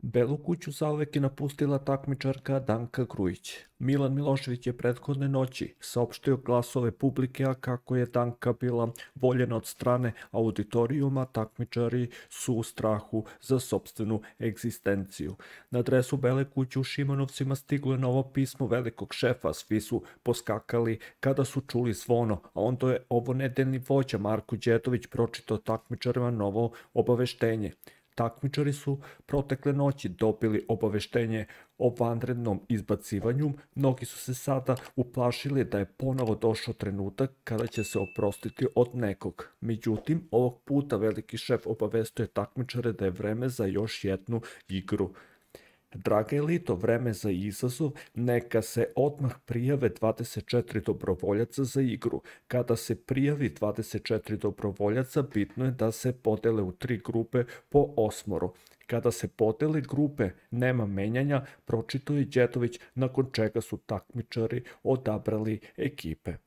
Belu kuću zauvek je napustila takmičarka Danka Grujić. Milan Milošević je prethodne noći saopštio glasove publike, a kako je Danka bila voljena od strane auditorijuma, takmičari su u strahu za sopstvenu egzistenciju. Na adresu Bele kuće u Šimanovcima stiglo je novo pismo velikog šefa, svi su poskakali kada su čuli zvono, a onda je ovo nedeljni vođa Marko Đedović pročitao takmičarima novo obaveštenje. Takmičari su protekle noći dobili obaveštenje o vanrednom izbacivanju, mnogi su se sada uplašili da je ponovo došao trenutak kada će se oprostiti od nekog. Međutim, ovog puta veliki šef obavestio je takmičare da je vreme za još jednu igru. Draga elito, vreme za izazov, neka se odmah prijave 24 dobrovoljaca za igru. Kada se prijavi 24 dobrovoljaca, bitno je da se podele u 3 grupe po 8. Kada se podele grupe, nema menjanja, pročitao je Đedović, nakon čega su takmičari odabrali ekipe.